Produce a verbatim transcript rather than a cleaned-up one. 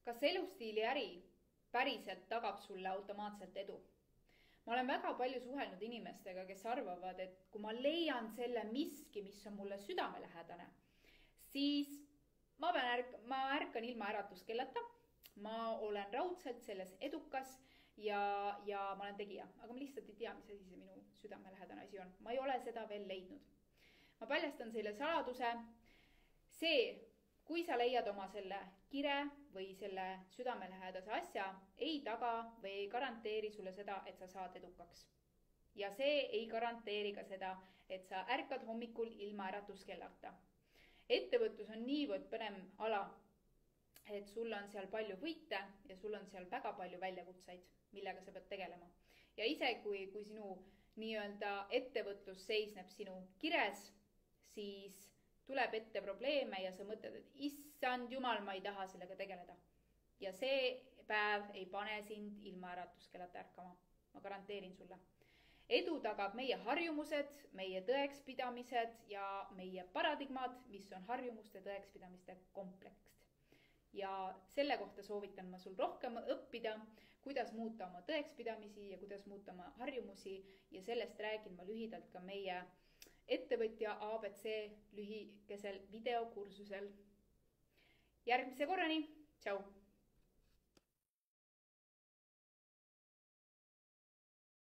Kas elustiili äri päriselt tagab sulle automaatselt edu? Ma olen väga palju suhelnud inimestega, kes arvavad, et kui ma leian selle miski, mis on mulle südamelähedane, siis ma, pean ärk ma ärkan ilma äratuskellata, ma olen raudselt selles edukas ja, ja ma olen tegija. Aga ma lihtsalt ei tea, mis asi see minu südamelähedane asi on. Ma ei ole seda veel leidnud. Ma paljastan selle saladuse. See, kui sa leiad oma selle kire või selle südamelähedase asja, ei taga või ei garanteeri sulle seda, et sa saad edukaks. Ja see ei garanteeri ka seda, et sa ärkad hommikul ilma äratuskellata. Ettevõtlus on niivõrd põnev ala, et sul on seal palju võite ja sul on seal väga palju väljakutseid, millega sa pead tegelema. Ja ise, kui, kui sinu nii-öelda ettevõtlus seisneb sinu kires, siis tuleb ette probleeme ja sa mõtled, et issand jumal, ma ei taha sellega tegeleda. Ja see päev ei pane sind ilma äratuskellata ärkama. Ma garanteerin sulle. Edu tagab meie harjumused, meie tõekspidamised ja meie paradigmad, mis on harjumuste tõekspidamiste kompleks. Ja selle kohta soovitan ma sul rohkem õppida, kuidas muuta oma tõekspidamisi ja kuidas muuta oma harjumusi ja sellest räägin ma lühidalt ka meie ettevõtja A B C lühikesel videokursusel. Järgmise korrani, tšau!